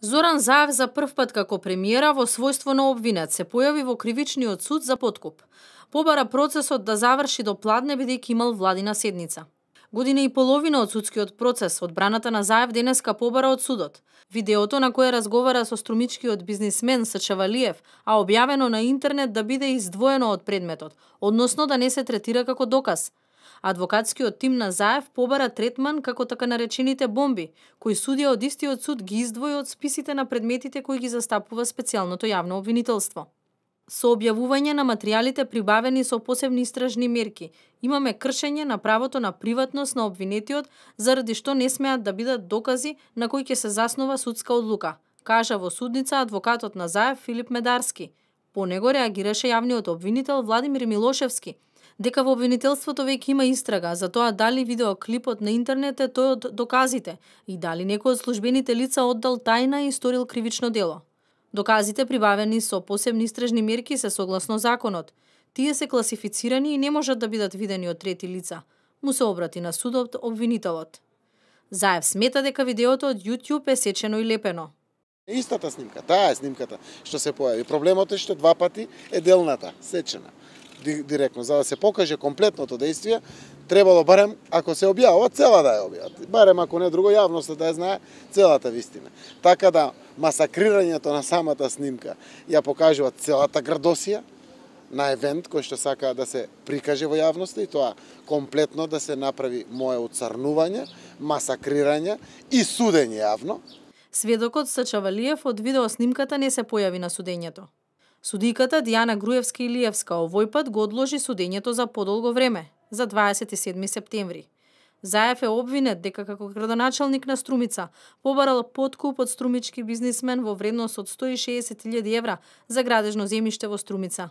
Зоран Заев за прв пат како премиера во својство на обвинет се појави во кривичниот суд за подкуп. Побара процесот да заврши до пладне бидејќи имал владина седница. Година и половина од судскиот процес, одбраната на Заев денеска побара од судот. Видеото на кое разговара со струмичкиот бизнисмен Сачавалиев, а објавено на интернет да биде издвоено од предметот, односно да не се третира како доказ. Адвокатскиот тим на Заев побара третман како така наречените бомби, кои судија од истиот суд ги издвои од списите на предметите кои ги застапува специјалното јавно обвинителство. Со објавување на материјалите прибавени со посебни истражни мерки, имаме кршење на правото на приватност на обвинетиот, заради што не смеат да бидат докази на кои ќе се заснова судска одлука, кажа во судница адвокатот на Заев Филип Медарски. По него реагираше јавниот обвинител Владимир Милошевски, дека во обвинителството веќе има истрага за тоа дали видеоклипот на интернет е тој од доказите и дали некој од службените лица оддал тајна и сторил кривично дело. Доказите прибавени со посебни истражни мерки се согласно законот. Тие се класифицирани и не можат да бидат видени од трети лица. Му се обрати на судот обвинителот. Заев смета дека видеото од YouTube е сечено и лепено. Истата снимка, таа е снимката што се појави. Проблемот е што два пати е делната, сечена. Директно, за да се покаже комплетното действие, требало барем, ако се објавува, цела да ја објават. Барем, ако не друго, јавноста да ја знае целата вистина. Така да масакрирањето на самата снимка ја покажува целата градосија на евент кој што сака да се прикаже во јавноста и тоа комплетно да се направи мое уцрнување, масакрирање и судење јавно. Сведокот Сачавалиев од видеоснимката не се појави на судењето. Судиката Дијана Груевска-Илиевска овој пат го одложи судењето за подолго време, за 27 септември. Заев е обвинет дека како градоначалник на Струмица побарал подкуп од струмички бизнисмен во вредност од 160.000 евра за градежно земјиште во Струмица.